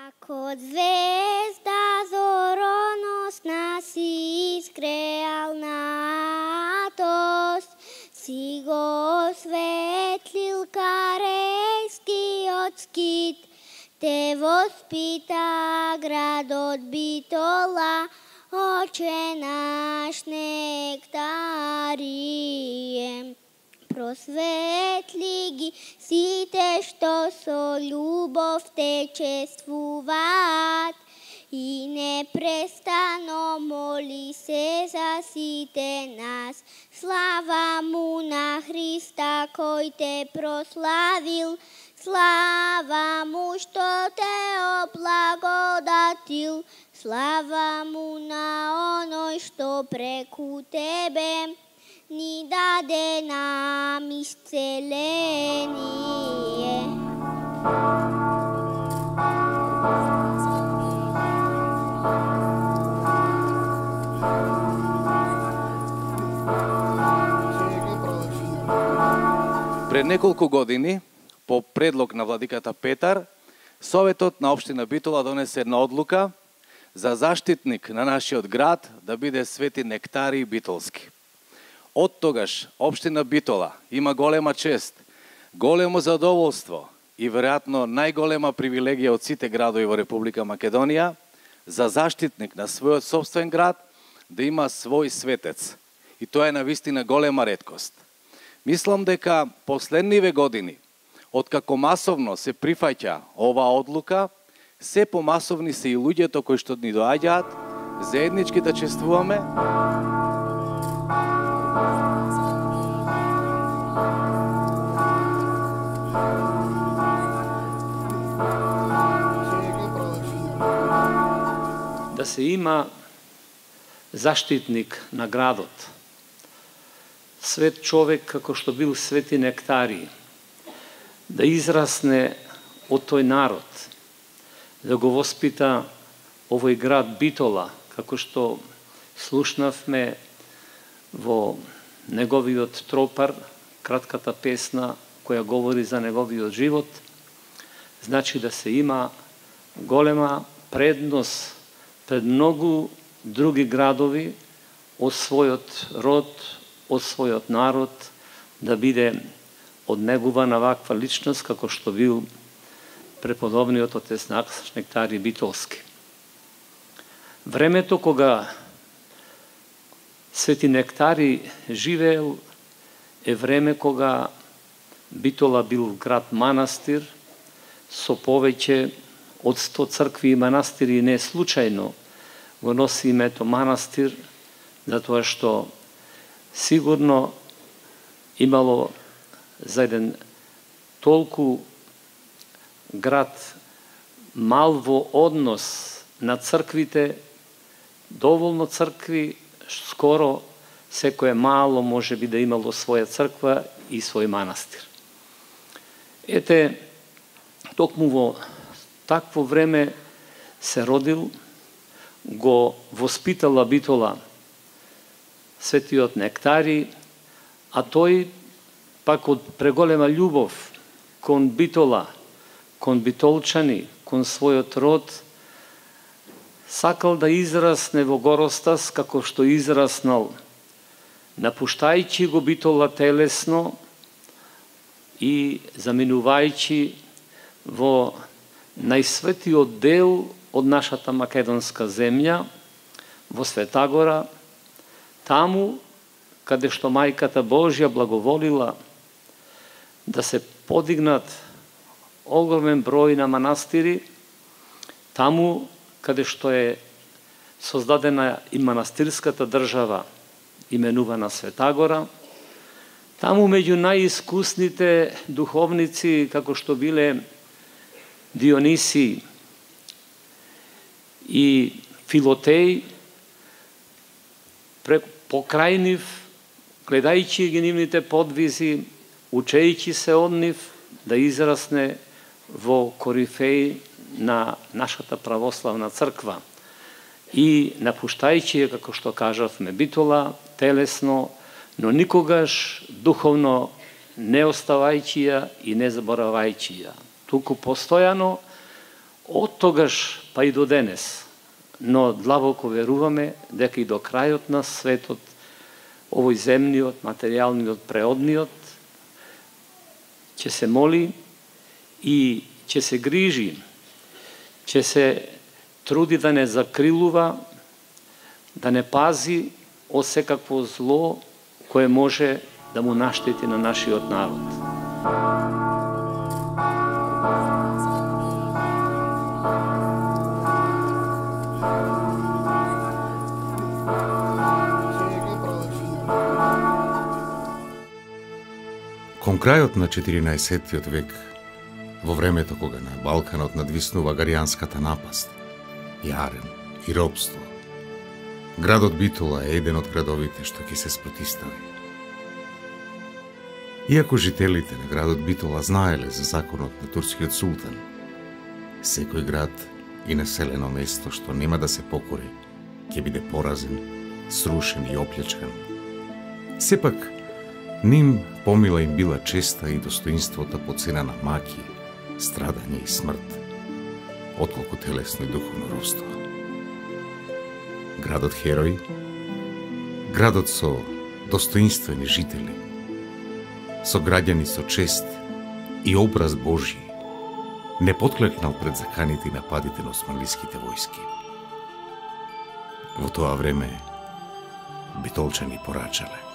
Како звезда зороносна си изгреал натост, си го осветлил карејскиот скит, те воспита градот Битола, Оче наш нектарие. Просветли ги сите што со љубов те чествуваат и непрестано моли се за сите нас. Слава му на Христа кој те прославил, слава му што те облагодатил, слава му на оној што преку тебе ни даде нам исцеление. Пред неколку години, по предлог на владиката Петар, Советот на општина Битола донесе една одлука за заштитник на нашиот град да биде Свети Нектарий Битолски. Од тогаш општина Битола има голема чест, големо задоволство и веројатно најголема привилегија од сите градови во Република Македонија за заштитник на својот сопствен град да има свој светец. И тоа е навистина голема реткост. Мислам дека последниве години, откако масовно се прифаќа оваа одлука, се помасовни се и луѓето кои што ни доаѓаат, заеднички да чествуваме. Да се има заштитник на градот. Свет човек, како што бил Свети Нектарий, да израсне од тој народ, да го воспита овој град Битола, како што слушнавме во неговиот тропар, кратката песна која говори за неговиот живот, значи да се има голема предност пред многу други градови од својот род, од својот народ, да биде однегувана ваква личност како што бил преподобниот отец наш Нектарий Битолски. Времето кога Свети Нектарий живеел е време кога Битола бил град манастир со повеќе од 100 цркви и манастири, и не случајно го носи името манастир, затоа што сигурно имало за еден толку град мал во однос на црквите, доволно цркви, скоро секое мало може би да имало своја црква и свој манастир. Ете, токму во такво време се родил, го воспитала Битола Светиот Нектарий, а тој пак од преголема љубов кон Битола, кон битолчани, кон својот род, сакал да израсне во Горостас како што израснал, напуштајќи го Битола телесно и заминувајќи во најсветиот дел од нашата македонска земја, во Светагора, таму каде што Мајката Божја благоволила да се подигнат огромен број на манастири, таму каде што е создадена и манастирската држава, именувана Светагора, таму меѓу најискусните духовници, како што биле Дионисий и Филотеј, покрај нив, гледајќи ги нивните подвизи, учејќи се од нив, да израсне во корифеј на нашата православна црква и напуштајќи ја, како што кажавме, Битола телесно, но никогаш духовно не оставајќи ја и не заборавајќи ја. Туку постојано Од тогаш па и до денес, но длабоко веруваме дека и до крајот на светот, овој земниот, материјалниот, преодниот, ќе се моли и ќе се грижи, ќе се труди да не закрилува, да не пази од секакво зло кое може да му наштети на нашиот народ. Кон крајот на 14. век, во времето кога на Балканот надвиснува гаријанската напаст, јарен и робство, градот Битола е еден од градовите што ќе се спротистави. Иако жителите на градот Битола знаеле за законот на турскиот султан, секој град и населено место што нема да се покори, ќе биде поразен, срушен и оплячкан. Сепак, ним помила им била честа и достоинството по цена на маки, страдање и смрт, отколку телесно и духовно робство. Градот Херој, градот со достоинствени жители, со граѓани со чест и образ Божји, не потклекнал пред заканите и нападите на османлиските војски. Во тоа време битолчани порачале: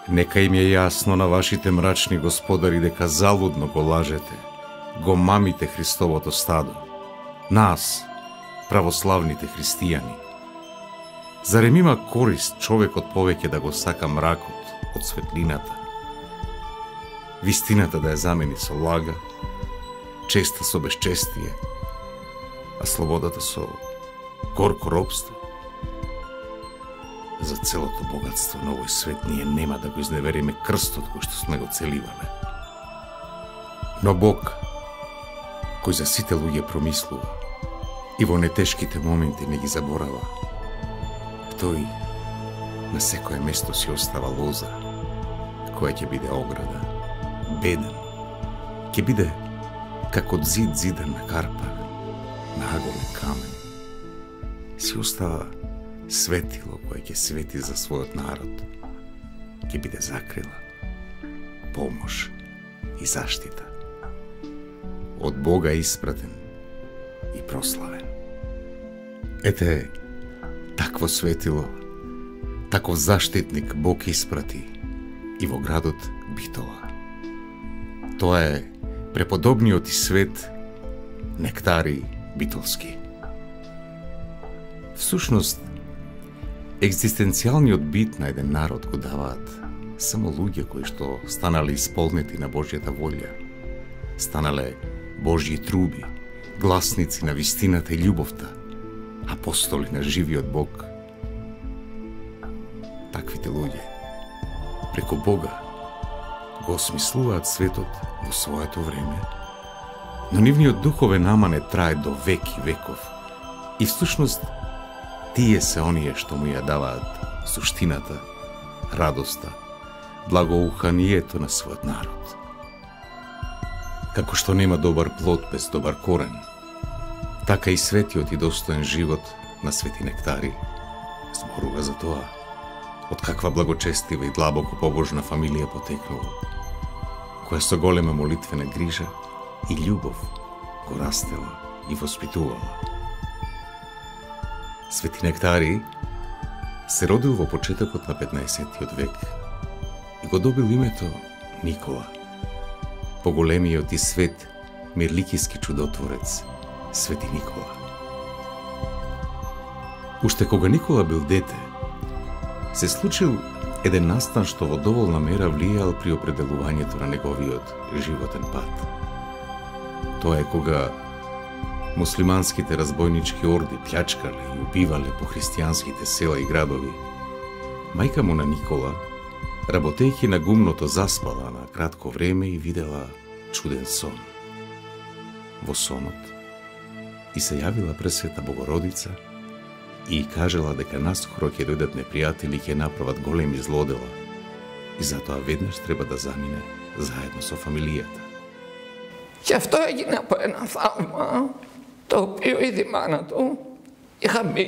нека им е јасно на вашите мрачни господари дека залудно го лажете, го мамите Христовото стадо, нас, православните христијани. Зарем има корист човекот повеќе да го сака мракот од светлината, вистината да ја замени со лага, честа со безчестие, а слободата со горко робство? За целото богатство на овој свет ние нема да го изневериме крстот кој што сме го целивале. Но Бог, кој за сите луѓе промислува и во нетешките моменти не ги заборава, тој на секое место си остава лоза, која ќе биде ограда, беден, ќе биде како зид зидан на карпар, на аголен камен. Си остава светило кое ќе свети за својот народ, ќе биде закрила, помош и заштита. Од Бога испратен и прославен. Ете, такво светило, таков заштитник Бог испрати и во градот Битола. Тоа е преподобниот и свет Нектари Битолски. Всушност, екзистенцијалниот бит на еден народ го даваат само луѓе кои што станале исполнети на Божјата волја, станале Божји труби, гласници на вистината и љубовта, апостоли на живиот Бог. Таквите луѓе, преку Бога, го осмислуваат светот во своето време, но нивниот духовен аман трае до веки веков и всушност тие се оние што му ја даваат суштината, радоста, благоуханието на својот народ. Како што нема добар плод без добар корен, така и светиот и достоен живот на Свети Нектари зборува за тоа, од каква благочестива и длабоко побожна фамилија потекнува, која со голема молитвена грижа и љубов го растела и воспитувала. Свети Нектари се родил во почетокот на 15. век и го добил името Никола, поголемиот и свет мирликиски чудотворец Свети Никола. Уште кога Никола бил дете, се случил еден настан што во доволна мера влијал при определувањето на неговиот животен пат. Тоа е кога муслиманските разбойнички орди плячкале и убивале по христијанските села и градови. Мајка му на Никола, работејќи на гумното, заспала на кратко време и видела чуден сон. Во сонот и се јавила Пресвета Богородица и кажела дека наскоро ќе дојдат непријатели и ќе направат големи злодела и затоа веднаш треба да замине заедно со фамилијата. Και αυτό έγινε από ένα θαύμα, το οποίο η μάνα του είχα μπει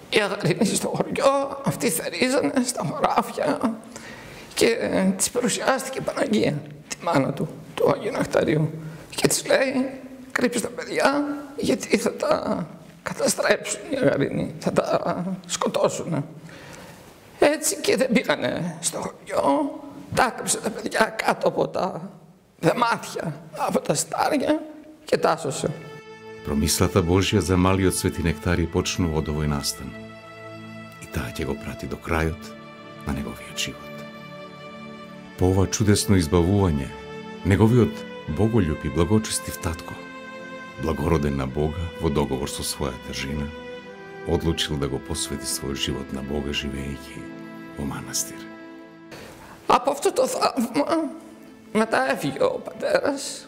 οι Αγαρίνοι στο χωριό, αυτοί θερίζανε στα χωράφια και της παρουσιάστηκε η Παναγία, τη μάνα του Αγίου Νεκταρίου. Και της λέει, κρύψε τα παιδιά, γιατί θα τα καταστρέψουν οι Αγαρίνοι, θα τα σκοτώσουν. Έτσι και δεν πήγανε στο χωριό, τα κρύψε τα παιδιά κάτω από τα δεμάτια, από τα στάρια και τα άσωσε. Промислата Божја за малиот Свети Нектари почнува од овој настан. И таа ќе го прати до крајот на неговиот живот. По ова чудесно избавување, неговиот боголюб и благочестив татко, благороден на Бога во договор со својата жена, одлучил да го посвети својот живот на Бога живеејќи во манастир. Από αυτό το θαύμα μετά έφυγε ο πατέρας,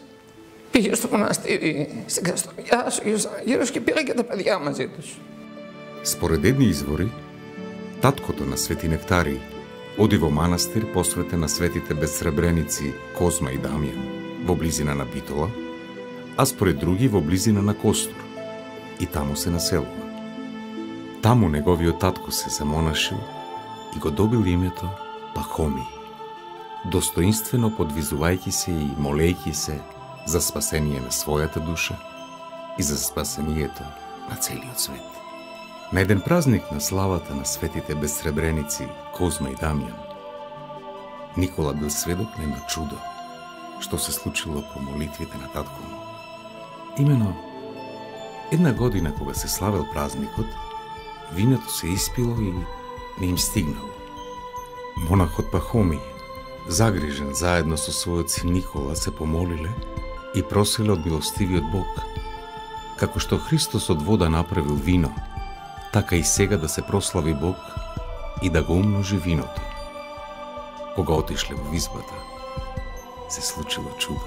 πήγε στο μοναστήρι στην Ξαστοριά, ο Άγιος Αναγύρος και πήγε και τα παιδιά μαζί τους. Според едни извори, таткото на Свети Нектари оди во манастир посветен на светите безсребреници Козма и Дамјан во близина на Битола, а според други во близина на Костур, и таму се населува. Таму неговиот татко се замонашил и го добил името Пахомий, достоинствено подвизувајќи се и молејќи се за спасение на својата душа и за спасението на целиот свет. На еден празник на славата на светите безсребреници Козма и Дамјан, Никола бил сведок на едно чудо, што се случило по молитвите на татко му. Имено, една година кога се славел празникот, виното се испило и не им стигнало. Монахот Пахомий, загрижен заедно со својот син Никола, се помолиле и проселе од милостивиот Бог. Како што Христос од вода направил вино, така и сега да се прослави Бог и да го умножи виното. Кога отишле во визбата, се случило чудо.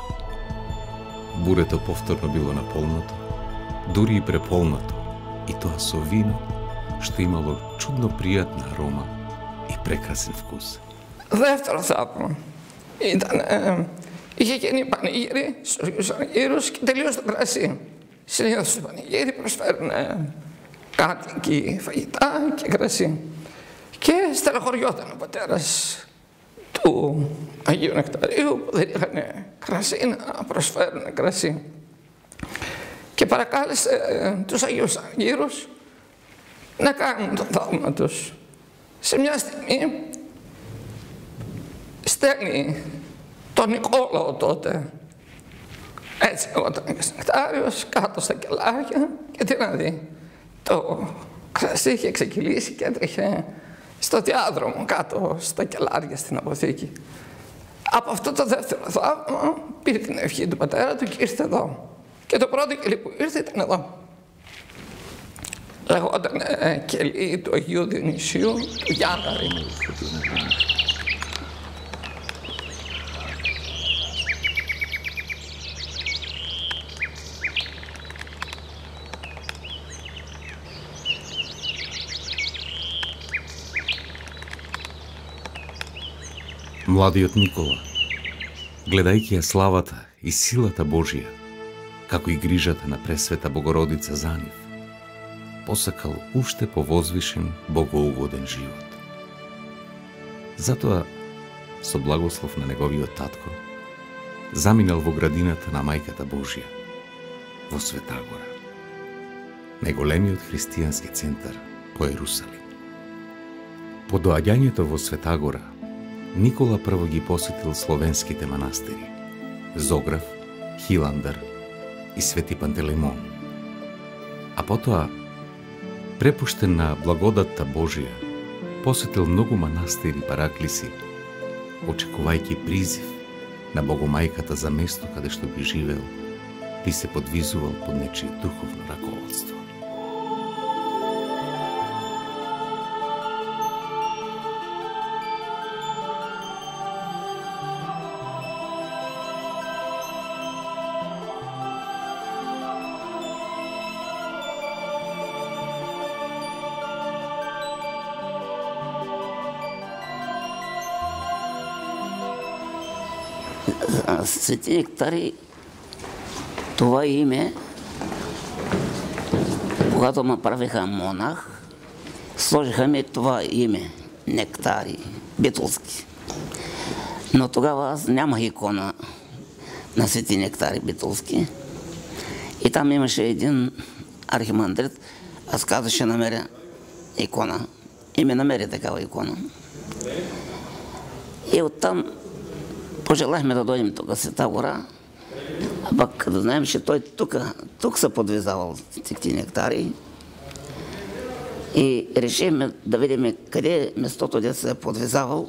Бурето повторно било наполнато, дури и преполнато, и тоа со вино, што имало чудно пријатна арома и прекрасен вкус. Δεύτερο θαύμα ήταν, είχε γίνει πανηγύρι στους Αγίους Αναγύρους και τελείωσε το κρασί. Συνήθως στο πανηγύρι προσφέρουν κάτοικοι φαγητά και κρασί. Και στεναχωριόταν ο πατέρας του Αγίου Νεκταρίου που δεν είχαν κρασί να προσφέρουν κρασί. Και παρακάλεσε τους Αγίους Αναγύρους να κάνουν το θαύμα τους. Σε μια στιγμή στέλνει τον Νικόλαο τότε, έτσι όταν ήταν Νεκτάριος, κάτω στα κελάρια και τι να δει. Το κρασί είχε ξεκυλήσει και έτρεχε στο διάδρομο κάτω στα κελάρια στην αποθήκη. Από αυτό το δεύτερο θαύμα πήρε την ευχή του πατέρα του και ήρθε εδώ. Και το πρώτο κελί που ήρθε ήταν εδώ. Λεγόταν κελί του Αγίου Διονυσίου του Γιάνναρη. Младиот Никола, гледајќи ја славата и силата Божија, како и грижата на Пресвета Богородица за нив, посакал уште повозвишен богоугоден живот. Затоа, со благослов на неговиот татко, заминал во градината на Мајката Божија, во Света Гора, најголемиот христијански центар по Ерусалим. По доаѓањето во Света Гора, Никола прво ги посетил словенските манастири Зограф, Хиландар и Свети Пантелеймон. А потоа, препуштен на благодатта Божија, посетил многу манастири и параклиси, очекувајќи призив на Богомајката за место каде што би живеел, би се подвизувал под нечие духовно раководство. Свети Нектари Това име, когато ме правиха монах, сложиха ми това име, Нектари Битолски. Но тогава аз нямах икона на Свети Нектари Битолски. И там имаше един архимандрит, аз казах, ще намеря икона. И ми намери такава икона. И оттам пожелахме да дойдем тук в Света гора, а пък да знаем, че той тук се подвизавал Свети Нектари. И решихме да видим къде е местото, де се е подвизавал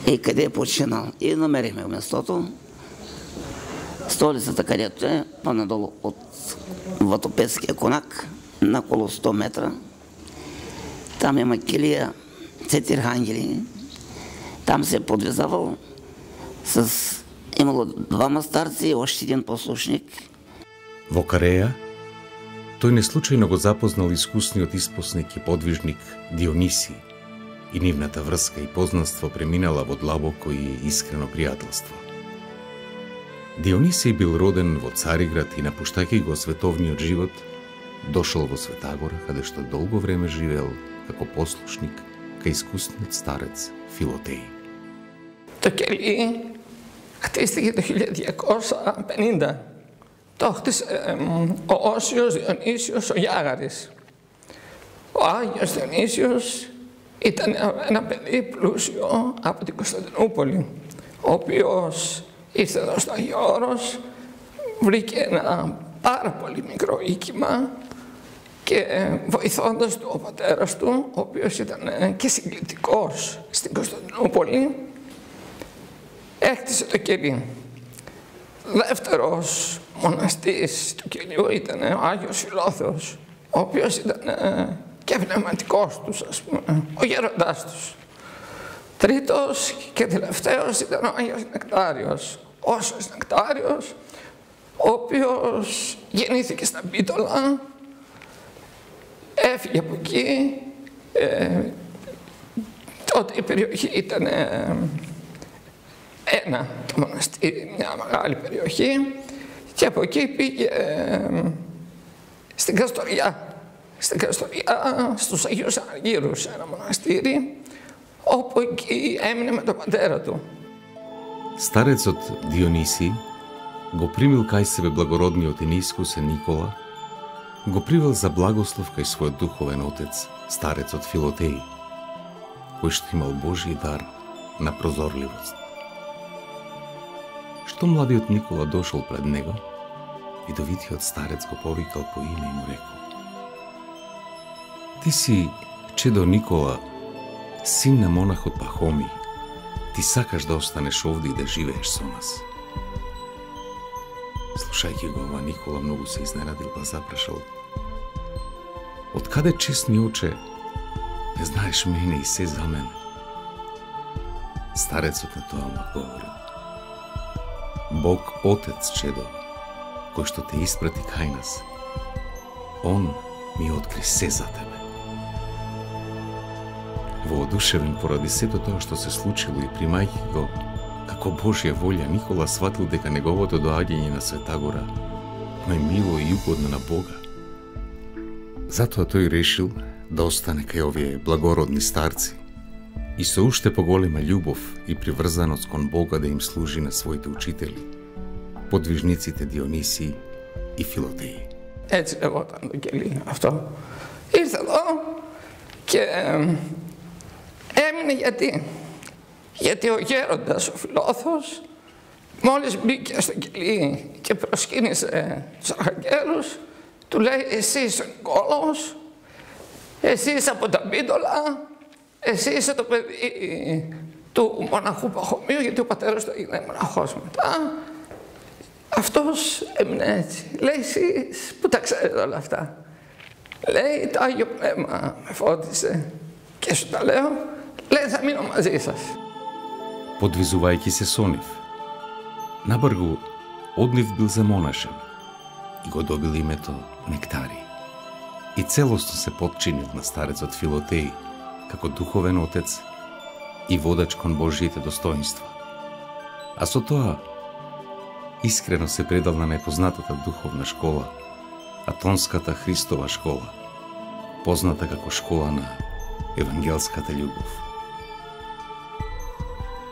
и къде е починал. И намерихме местото. Столицата, където е, по-надолу от Ватопецкия конак, на около 100 метра. Там има килия, 4 ангели. Там се е подвизавал имало 2 старци и още един послушник. Во Кареја, тој неслучајно го запознал искусниот испосник и подвижник Диониси и нивната врска и познанство преминала во длабоко и искрено пријателство. Дионисий бил роден во Цариград и напуштајќи го световниот живот, дошол во Светагора, каде што долго време живеел како послушник кај искусниот старец Филотеј. Το κελί χτίστηκε το 1250. Το χτίσε ο Όσιος Διονύσιος ο Γιάγαρης. Ο Άγιος Διονύσιος ήταν ένα παιδί πλούσιο από την Κωνσταντινούπολη, ο οποίος ήρθε εδώ στο Άγιο Όρος, βρήκε ένα πάρα πολύ μικρό οίκημα και βοηθώντας του ο πατέρας του, ο οποίος ήταν και συγκλητικός στην Κωνσταντινούπολη, έκτισε το κελί. Δεύτερος μοναστής του κελιού ήταν ο Άγιος Φιλόθεος, ο οποίος ήταν και πνευματικός τους, ας πούμε, ο γέροντάς τους. Τρίτος και τελευταίος ήταν ο Άγιος Νεκτάριος, Όσιος Νεκτάριος, ο οποίος γεννήθηκε στα Μπίτολα, έφυγε από εκεί, τότε η περιοχή ήταν το μοναστήρι, μια μεγάλη περιοχή, και από εκεί πήγε στην Καστοριά, στους Αγίους Αργύρους, ένα μοναστήρι, όπου εκεί έμεινε με τον πατέρα του. Старецот Дионисий го примил кај себе благородниот и неискусен Никола, го привел за благослов кај својот духовен отец, старецот Филотеј, кој што имал Божји дар на прозорливост. Што младиот Никола дошол пред него, видовитиот старец го повикал по име и му рекол: Ти си чедо Никола, син на монахот Пахоми. Ти сакаш да останеш овде и да живееш со нас. Слушајќи го ова, Никола многу се изненадил, па запрашал: Од каде, честни оче, не знаеш мене и се за мене? Старецот на тоа му одговорил: Бог Отец, чедо, кој што те испрати кај нас, Он ми откри се за тебе. Воодушевен поради сето тоа што се случило и примајќи го како Божја волја, Никола сватил дека неговото доаѓање на Светагора му е мило и угодно на Бога. Затоа тој решил да остане кај овие благородни старци и со уште поголема љубов и приврзаност кон Бога да им служи на своите учители, подвижниците Дионисий и Φιλοτеј. Έτσι λεγόταν το κελί αυτό. Ήρθε εδώ και έμεινε γιατί ο γέροντας, ο Φιλόθος, μόλις μπήκε στο κελί και προσκύνησε τους αρχαγγέλους, του λέει: Εσύ είσαι ο Νικόλαος, εσύ είσαι από τα Μπίτολα, εσύ είσαι το παιδί του μοναχού Παχωμίου, γιατί ο πατέρας του έγινε μοναχός μετά. Αυτός έμεινε έτσι. Λέει: Εσείς που τα ξέρετε όλα αυτά? Λέει: Το Άγιο Πνεύμα με φώτισε και σου τα λέω. Λέει: Θα μείνω μαζί σας. Подвизувајќи се со нив, набргу од нив бил замонашен и го добил името Нектари. И целосно се подчинил на старецот Филотеј како духовен отец и водач кон Божјите достоинства. А со тоа искрено се предал на најпознатата духовна школа, Атонската Христова школа, позната како школа на евангелската љубов.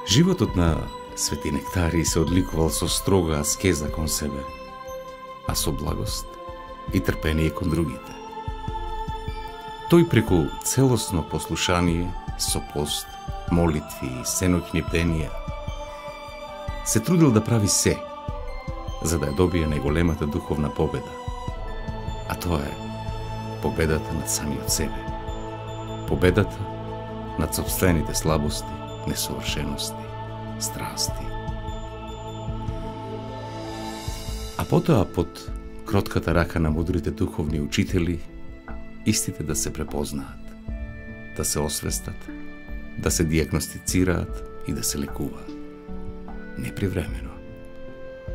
Животот на Свети Нектарий се одликувал со строга аскеза кон себе, а со благост и трпение кон другите. Тој преку целосно послушание, со пост, молитви и сеноќни бденија, се трудил да прави се, за да ја добие најголемата духовна победа, а тоа е победата над самиот себе, победата над сопствените слабости, несовршености, страсти. А потоа под кротката рака на мудрите духовни учители, истите да се препознаат, да се освестат, да се диагностицираат и да се лекуваат. Не привремено,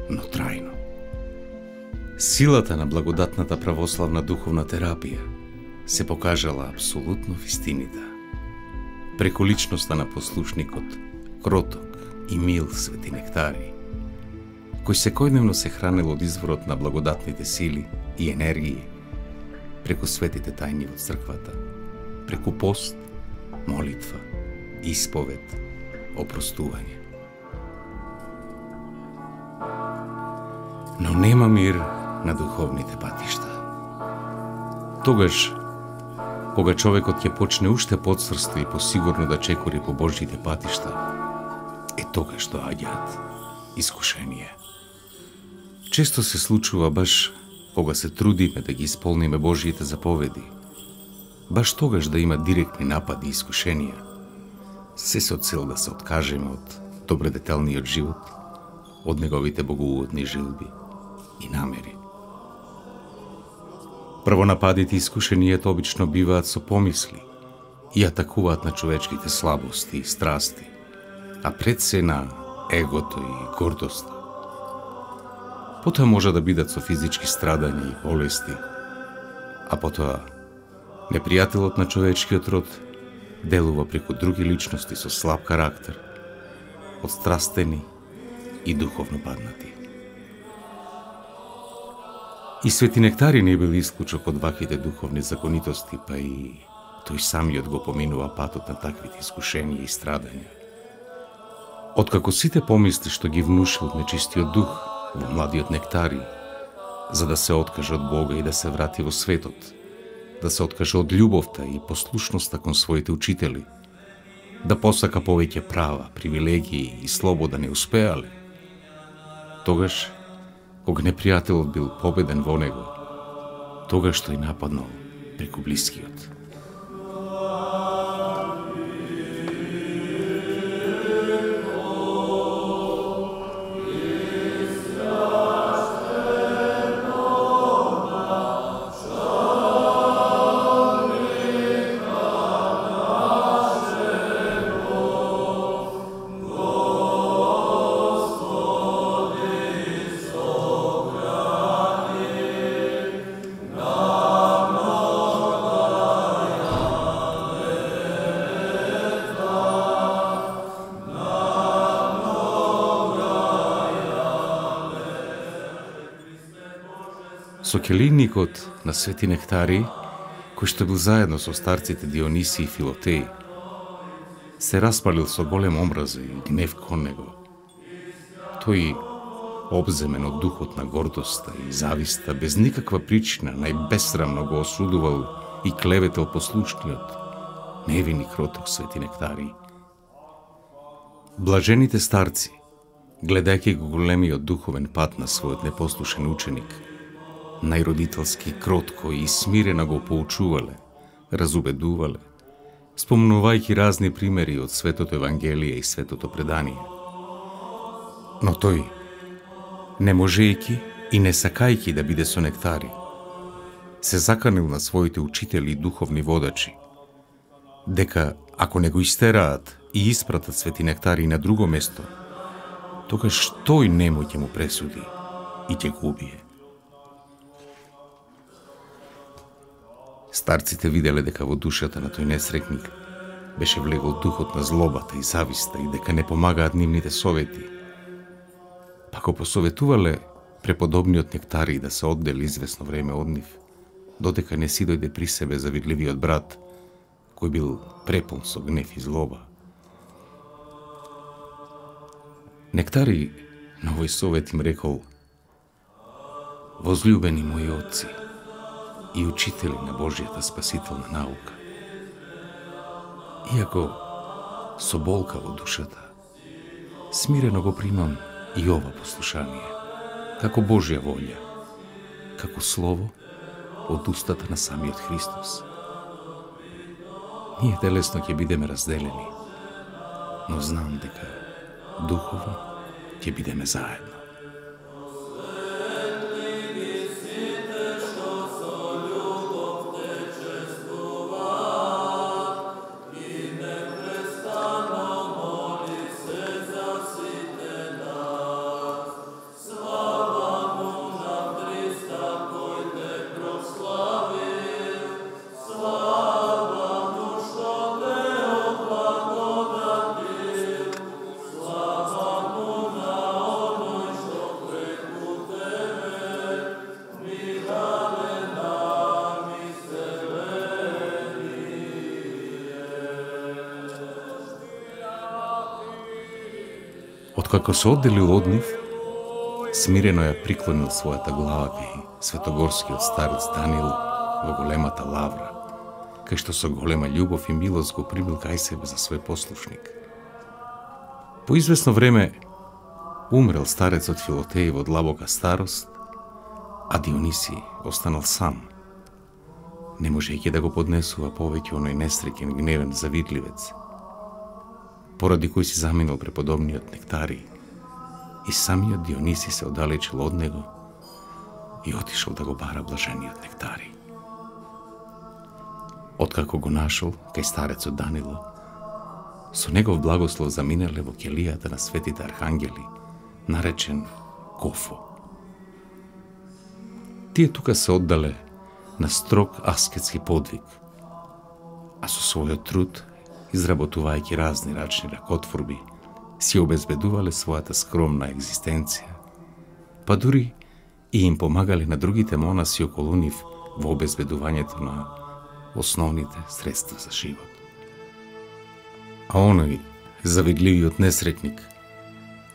но трајно. Силата на благодатната православна духовна терапија се покажала апсолутно вистинита. Преку личноста на послушникот, кроток и мил Свети Нектарий, кој секојдневно се хранел од изворот на благодатните сили и енергии, преку светите тајни во црквата, преку пост, молитва, исповед, опростување. Но нема мир на духовните патишта. Тогаш, кога човекот ќе почне уште подсрсто и посигурно да чекори по Божјите патишта, тогаш доаѓаат искушенија. Често се случува баш кога се трудиме да ги исполниме Божјите заповеди, баш тогаш да има директни напади и искушенија, се со цел да се откажеме од добредетелниот живот, од неговите богоугодни желби и намери. Првонападите и искушенијата обично биваат со помисли и атакуваат на човечките слабости и страсти, а пред се на егото и гордоста. Потоа може да бидат со физички страдања и болести, а потоа непријателот на човечкиот род делува преку други личности со слаб карактер, отстрастени и духовно паднати. И Свети Нектарий не бил исклучок од ваквите духовни законитости, па и тој самиот го поминува патот на таквите искушенија и страдања. Откако сите помисли што ги внушил нечистиот дух во младиот Нектарий, за да се откаже од Бога и да се врати во светот, да се откаже од љубовта и послушноста кон своите учители, да посака повеќе права, привилегии и слобода не успеале, тогаш, кога непријателот бил победен во него, тогаш тој нападнал преку блискиот. Со келийникот на Свети Нектарий, кој што бил заедно со старците Диониси и Филотеј, се распалил со голем омраза и гнев кон него. Тој, обземен од духот на гордоста и зависта, без никаква причина, најбесрамно го осудувал и клеветел послушниот, невини кроток Свети Нектарий. Блажените старци, гледајќи го големиот духовен пат на својот непослушен ученик, најродителски, кротко и смирено го поучувале, разубедувале, спомнувајќи разни примери од Светото Евангелие и Светото предание. Но тој, не можејќи и не сакајќи да биде со Нектарий, се заканил на своите учители и духовни водачи, дека ако не го истераат и испратат Свети Нектарий на друго место, тогаш тој немој ќе му пресуди и ќе го убие. Старците виделе дека во душата на тој несрекник беше влегол духот на злобата и зависта и дека не помагаат нивните совети. Пако посоветувале преподобниот Нектарий да се оддели извесно време од нив, додека не си дојде при себе завидливиот брат, кој бил препун со гнев и злоба. Нектарий на овој совет им рекол: возљубени мои отци и учители на Божјата спасителна наука, иако со болка во душата, смирено го примам и ова послушание, како Божја волја, како слово од устата на самиот Христос. Ние телесно ќе бидеме разделени, но знам дека духовно ќе бидеме заедно. Откако се одделил од нив, смирено ја приклонил својата глава кај светогорскиот старец Даниил во големата лавра, кај што со голема љубов и милост го примил кај себе за свој послушник. По извесно време умрел старецот Филотеј во длабока старост, а Дионисий останал сам, не можејќи да го поднесува повеќе оној несреќен гневен завидливец, поради кој си заминал преподобниот Нектарий, и самиот Дионисий се оддалечил од него и отишол да го бара блажениот Нектарий. Откако го нашол кај старецот Данило, со негов благослов заминале во келијата на светите архангели, наречен Кофо. Тие тука се оддале на строг аскетски подвиг, а со својот труд, изработувајќи разни рачни ракотворби, си обезбедувале својата скромна екзистенција, па дури и им помагале на другите монаси околу нив во обезбедувањето на основните средства за живот. А оној завидливиот несретник,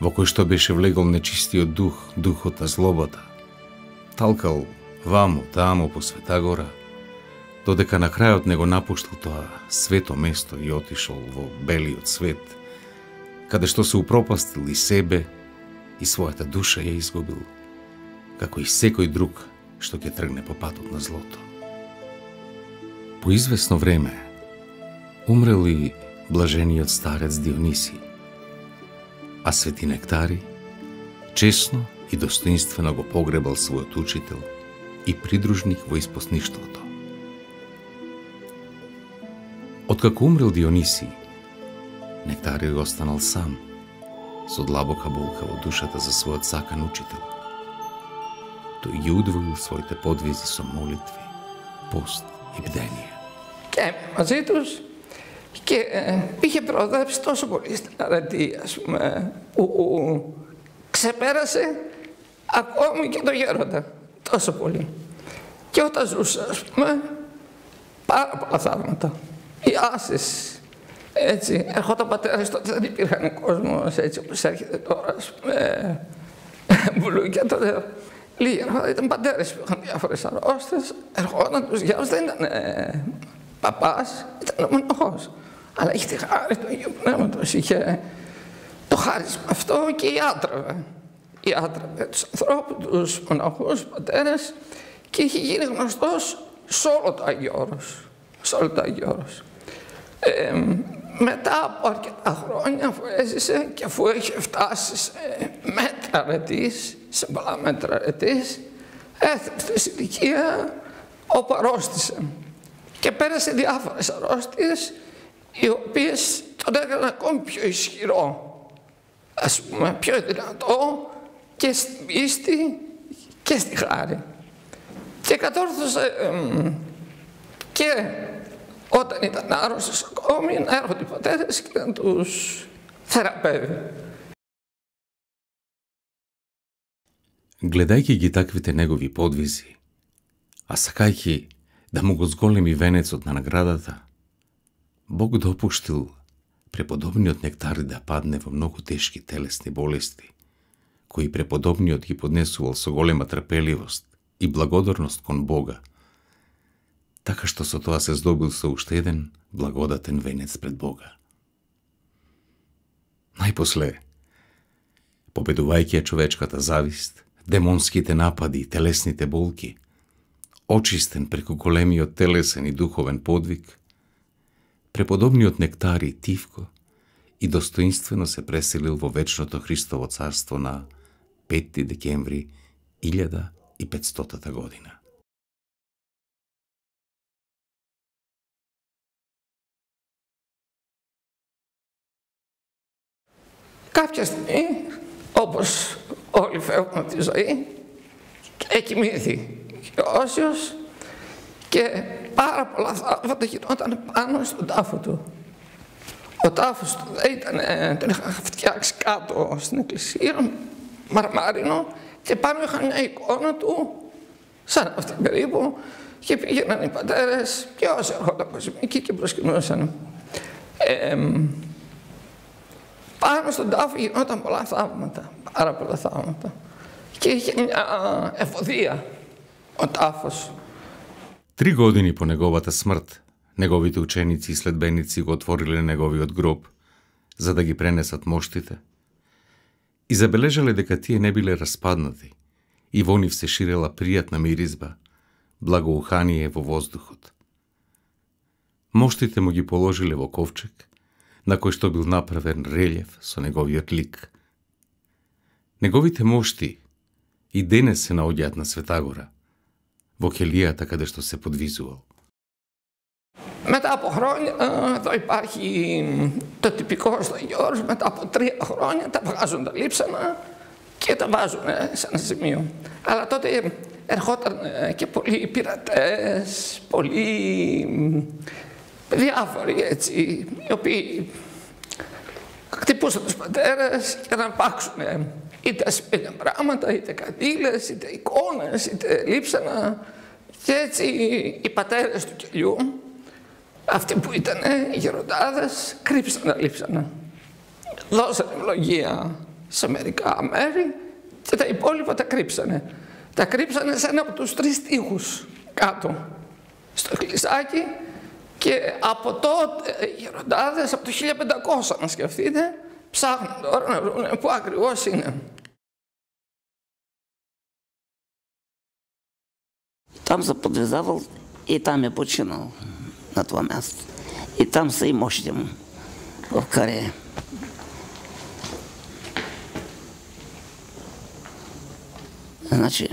во кој што беше влегол нечистиот дух, духот на злобата, талкал ваму таму по Света гора, додека на крајот не го напуштил тоа свето место и отишол во белиот свет, каде што се упропастил и себе, и својата душа ја изгубил, како и секој друг што ќе тргне по патот на злото. По извесно време умрел и блажениот старец Дионисий, а свети Нектарий чесно и достоинствено го погребал својот учител и придружник во испосничеството. Откако умрел Дионисий, Нектарий останал сам, со длабока болка во душата за својот сакан учител. Тој ги удвоил своите подвизи со молитви, пост и бдение. Και μαζί τους και είχε προοδεύσει τόσο πολύ στην αρετή, που ξεπέρασε ακόμη και το γέροντα, τόσο πολύ. Και όταν ζούσε, πάρα πολλά θαύματα, ιάσεις, έτσι, ερχόταν πατέρας, τότε δεν υπήρχαν κόσμος έτσι όπως έρχεται τώρα, μπουλούκια, τότε λίγοι ερχόταν, ήταν πατέρες που είχαν διάφορες αρρώστιες, ερχόταν τους γιάους, δεν ήταν παπάς, ήταν μοναχός. Αλλά είχε τη χάρη του Αγίου Πνεύματος, είχε το χάρισμα αυτό και ιάτρευε. Ιάτρευε τους ανθρώπους, τους μοναχούς, πατέρες και είχε γίνει γνωστός σε όλο το Άγιο Όρος. Σε όλο το Άγιο Όρος. Μετά από αρκετά χρόνια αφού έζησε και αφού είχε φτάσει σε μέτρα αρετής, σε πολλά μέτρα αρετής, έφτασε στην ηλικία όπου αρρώστησε. Και πέρασε διάφορες αρρώστιες, οι οποίες τον έκαναν ακόμη πιο ισχυρό, ας πούμε, πιο δυνατό και στην πίστη και στη χάρη. Και κατόρθωσε και όταν ήταν άρρωστος ακόμη να έρχονται οι πατέρες και να τους θεραπεύει. Гледајќи ги таквите негови подвизи, а сакајќи да му го зголеми венецот на наградата, Бог допуштил преподобниот Нектари да падне во многу тешки телесни болести, кои преподобниот ги поднесувал со голема трпеливост и благодарност кон Бога, така што со тоа се здобил со уште еден благодатен венец пред Бога. Најпосле, победувајќи ја човечката завист, демонските напади и телесните болки, очистен преку големиот телесен и духовен подвиг, преподобниот Нектари тивко и достоинствено се преселил во вечното Христово царство на 5 декември 1500 година. Κάποια στιγμή, όπως όλοι φεύγουν από τη ζωή, εκοιμήθη και ο Όσιος και πάρα πολλά θαύματα γινόταν πάνω στον τάφο του. Ο τάφος του τον είχαν φτιάξει κάτω στην εκκλησία, μαρμάρινο, και πάνω είχαν μια εικόνα του, σαν αυτή περίπου, και πήγαιναν οι πατέρες και όσοι έρχονταν εκεί και προσκυνούσαν. Πάνω στον τάφο γινόταν πολλά θαύματα, πάρα πολλά θαύματα. Και είχε μια ευωδία ο τάφος. 3 години по неговата смрт, неговите ученици и следбеници го отвориле неговиот гроб, за да ги пренесат моштите, и забележале дека тие не биле распаднати, и во нив се ширела пријатна миризба, благоухание во воздухот. Моштите му ги положиле во ковчег, на кој што бил направен релјеф со неговиот лик. Неговите мошти и денес се наоѓаат на Светагора, во келијата каде што се подвизувал. Μετά από χρόνια, εδώ υπάρχει το τυπικό στο Γιώργος, μετά από 3 χρόνια τα βγάζουν τα λείψανα και τα βάζουν σε ένα σημείο. Αλλά τότε ερχόταν και πολλοί πειρατές, πολλοί διάφοροι έτσι, οι οποίοι χτυπούσαν τους πατέρες για να αρπάξουν είτε ασημένια πράγματα, είτε καντήλες, είτε εικόνες, είτε λείψανα. Και έτσι οι πατέρες του κελιού, αυτοί που ήταν οι γεροντάδες, κρύψαν τα λείψανα. Δώσανε ευλογία σε μερικά μέρη και τα υπόλοιπα τα κρύψανε. Τα κρύψανε σε ένα από τους 3 τοίχους κάτω, στο εκκλησάκι, και από τότε οι γεροντάδες, από το 1500 να σκεφτείτε, ψάχνουν τώρα να βρουν πού ακριβώς είναι. Там се подвизавал и там е починал на това място. И там са и мощите му в Карея. Значи,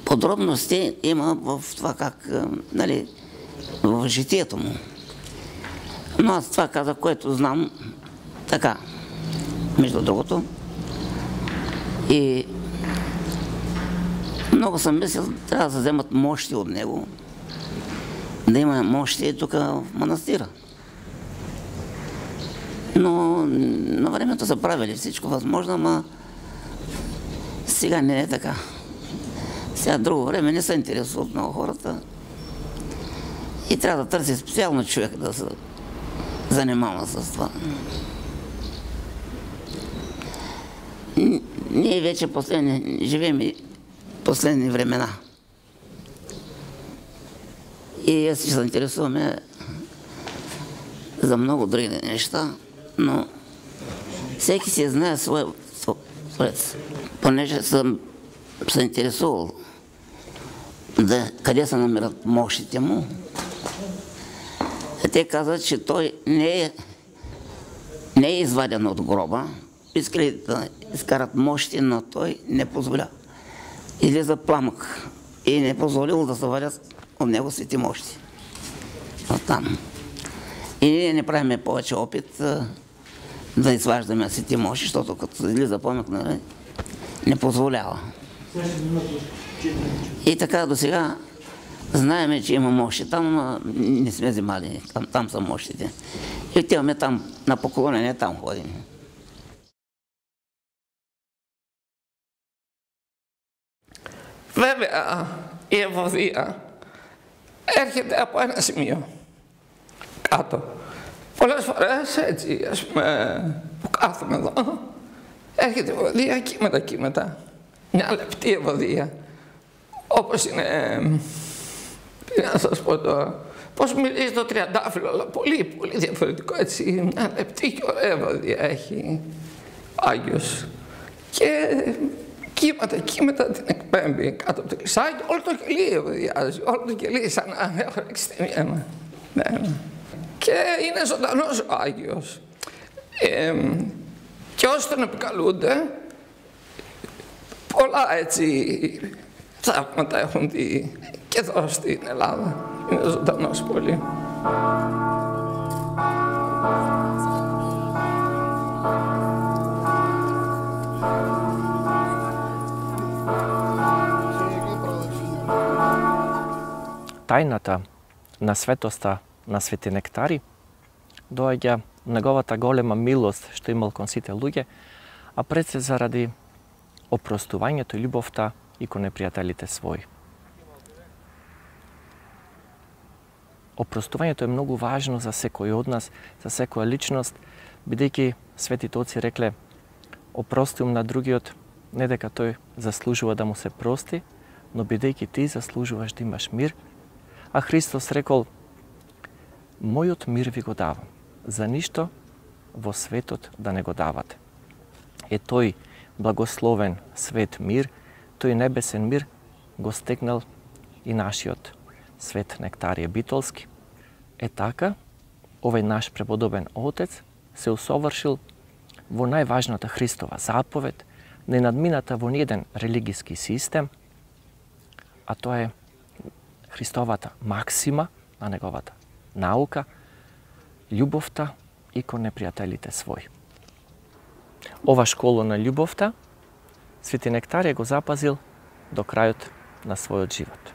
подробности има в това как, нали, в житието му. Но аз това казах, което знам така, между другото. И много съм мислил, трябва да се вземат мощи от него, да има мощи тук в манастира. Но на времето са правили всичко възможно, ама сега не е така. Сега друго време не се интересуват много хората и трябва да търси специално човек да се занимава с това. Ние вече живеем и последни времена. И аз ще се интересуваме за много други неща, но всеки си знае своя творец. Понеже съм се интересувал къде се намират мощите му, те казват, че той не е изваден от гроба. Искали да изкарат мощи, но той не позволя. Излиза пламък и не позволил да се вадят от него свети мощи. Оттам. И ние не правим повече опит да изваждаме свети мощи, защото като излиза пламък, не позволява. И така до сега знаеме, че има мощи там, но не сме взимали. Там са мощите. И отиваме там на поклонение, там ходим. Βέβαια, η ευωδία έρχεται από ένα σημείο κάτω. Πολλές φορές, έτσι, ας πούμε, που κάθομαι εδώ, έρχεται η ευωδία κύματα. Μια λεπτή ευωδία. Όπως είναι, τι να σας πω τώρα, πώς μιλήσει το τριαντάφυλλο, αλλά πολύ, πολύ διαφορετικό, έτσι. Μια λεπτή και ωραία ευωδία έχει ο Άγιος. Και κύματα την εκπέμπει κάτω από το κλεισάκι, όλο το κελί ευωδιάζει, όλο το κελί σαν να έχω ρίξει την αίμα. Και είναι ζωντανός ο Άγιος. Και όσοι τον επικαλούνται, πολλά έτσι θαύματα έχουν δει και εδώ στην Ελλάδα. Είναι ζωντανός πολύ. Тајната на светоста на Свети Нектари доаѓа неговата голема милост што имал кон сите луѓе, а пред се заради опростувањето и љубовта и кон непријателите своји. Опростувањето е многу важно за секој од нас, за секоја личност, бидејќи светите оци рекле: опростувам на другиот, не дека тој заслужува да му се прости, но бидејќи ти заслужуваш да имаш мир. А Христос рекол: мојот мир ви го давам, за ништо во светот да не го давате. Е тој благословен свет мир, тој небесен мир го стекнал и нашиот свет Нектарije Битолски. Е така, овој наш преподобен Отец се усовршил во најважната Христова заповед, не надмината во ниеден религиски систем, а тоа е Христовата максима на неговата наука, љубовта и кон непријателите своји. Ова школа на љубовта Свети Нектарije го запазил до крајот на својот живот.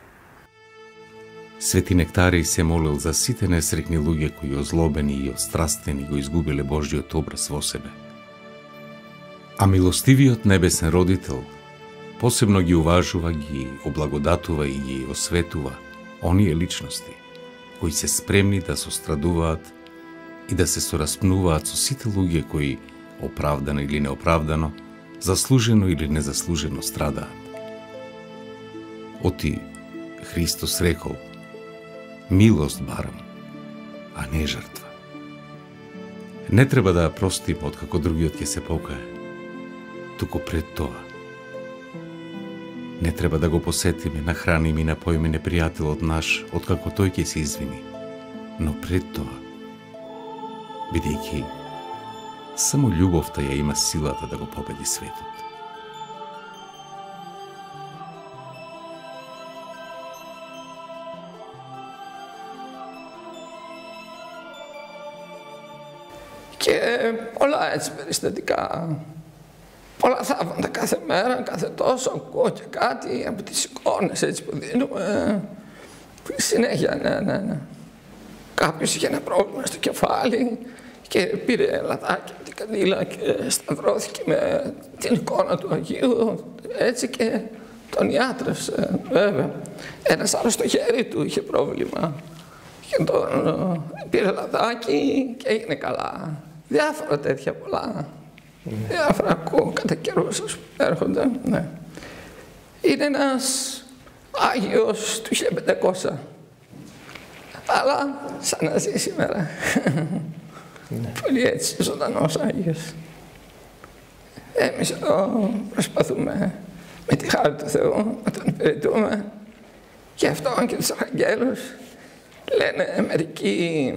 Свети Нектарije се молил за сите несрекни луѓе кои озлобени и острастени го изгубиле Божјиот образ во себе. А милостивиот небесен родител посебно ги уважува, ги облагодатува и ги осветува оние личности кои се спремни да сострадуваат и да се сораспнуваат со сите луѓе кои оправдано или неоправдано, заслужено или незаслужено страдаат. Оти Христос рекол: милост барам, а не жртва. Не треба да ја простиме откако другиот ќе се покае, туку пред тоа не треба да го посетиме, нахраниме и напоиме непријателот наш откако тој ќе се извини, но пред тоа, бидејќи само љубовта ја има силата да го победи светот. Και πολλά έτσι περιστατικά, πολλά θαύματα κάθε μέρα, κάθε τόσο ακούω και κάτι από τις εικόνες έτσι που δίνουμε. Συνέχεια, ναι. Κάποιος είχε ένα πρόβλημα στο κεφάλι και πήρε λαδάκι από την καντήλα και σταυρώθηκε με την εικόνα του Αγίου, έτσι, και τον ιάτρευσε, βέβαια. Ένας άλλος στο χέρι του είχε πρόβλημα και τον πήρε λαδάκι και έγινε καλά. Διάφορα τέτοια πολλά. Διάφορα ακούω κατά καιρούς που έρχονται. Ναι. Είναι ένας Άγιος του 1500. Αλλά σαν να ζει σήμερα. Πολύ έτσι ζωντανός Άγιος. Εμείς εδώ προσπαθούμε με τη χάρη του Θεού να τον υπηρετούμε. Γι' αυτό και τους Αγγέλους λένε μερικοί: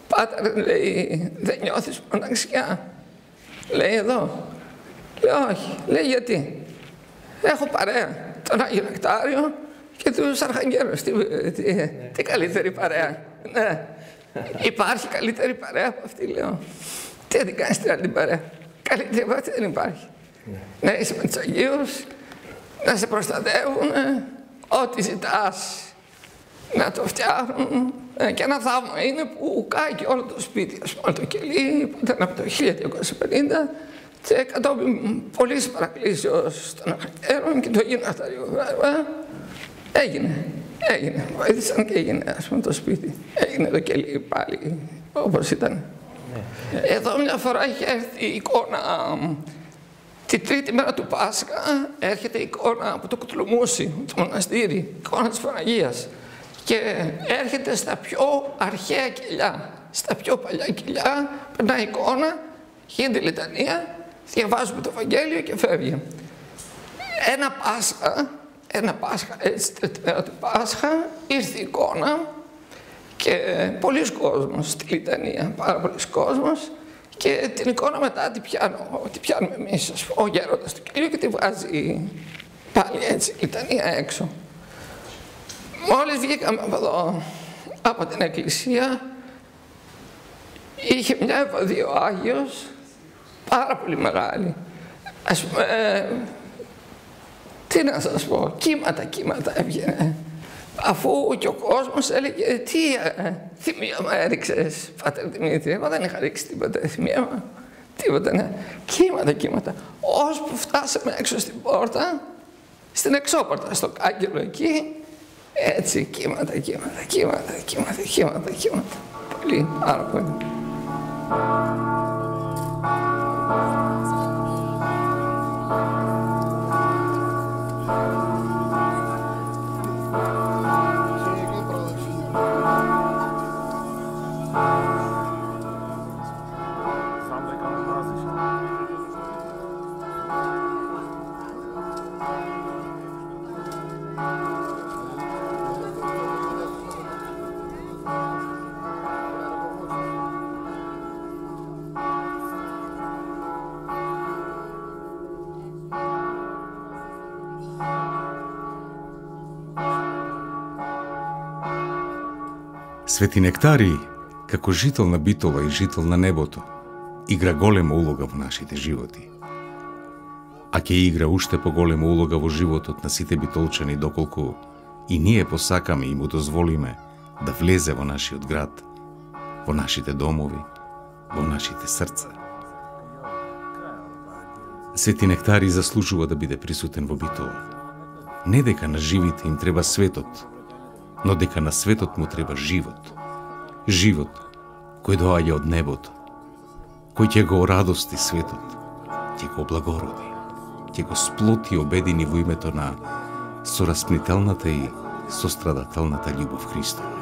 Πάτερ, λέει, δεν νιώθεις μοναξιά? Λέει εδώ. Λέω όχι. Λέει γιατί? Έχω παρέα τον Άγιο Νεκτάριο και τους Αρχαγγέλους. Τι καλύτερη παρέα? Ναι. Υπάρχει καλύτερη παρέα από αυτή, λέω. Τι δεν κάνεις την άλλη παρέα? Καλύτερη από αυτή δεν υπάρχει. Ναι, είσαι με τους Αγίους, να σε προστατεύουν, ό,τι ζητάς να το φτιάχνουν. Και ένα θαύμα είναι που κάει και όλο το σπίτι, ας πούμε, όλο το κελί, που ήταν από το 1250, Και κατόπιν πολλής παρακλήσεως των αναχαρτέρων και το γυμναστήριο. Έγινε. Βοήθησαν και έγινε, ας πούμε, το σπίτι. Έγινε το κελί πάλι, όπως ήταν. Εδώ μια φορά είχε έρθει η εικόνα, τη τρίτη μέρα του Πάσχα, έρχεται η εικόνα από το Κουτλουμούσι, το μοναστήρι, η εικόνα της Παναγίας. Και έρχεται στα πιο αρχαία κελιά, στα πιο παλιά κελιά, περνάει εικόνα, γίνεται λιτανία, διαβάζουμε το Ευαγγέλιο και φεύγει. Ένα Πάσχα, έτσι, τρίτη μέρα του Πάσχα, ήρθε η εικόνα και πολλοί κόσμος στη λιτανία, πάρα πολλοί κόσμος, και την εικόνα μετά την πιάνουμε εμείς, ο γέροντας του κελιού, και τη βγάζει πάλι έτσι, λιτανία έξω. Μόλις βγήκαμε από εδώ, από την εκκλησία, είχε μια ευωδία ο Άγιος, πάρα πολύ μεγάλη. Ας πούμε, τι να σας πω, κύματα έβγαινε. Αφού και ο κόσμος έλεγε, τι θυμίαμα έριξες, Πάτερ Δημήτρη? Εγώ δεν είχα ρίξει τίποτα θυμίαμα, τίποτα, ναι. Κύματα. Ώσπου φτάσαμε έξω στην πόρτα, στην εξώπορτα, στο κάγκελο εκεί, έτσι, κύματα. Πολύ, πάρα πολύ. Свети Нектари, како жител на Битола и жител на небото, игра голема улога во нашите животи. А ќе игра уште поголема улога во животот на сите битолчани, доколку и ние посакаме и му дозволиме да влезе во нашиот град, во нашите домови, во нашите срца. Свети Нектари заслужува да биде присутен во Битола. Не дека на живите им треба светот, но дека на светот му треба живот. Живот кој доаѓа од небото, кој ќе го радости светот, ќе го облагороди, ќе го сплоти и обедини во името на сораспнителната и сострадателната љубов Христова.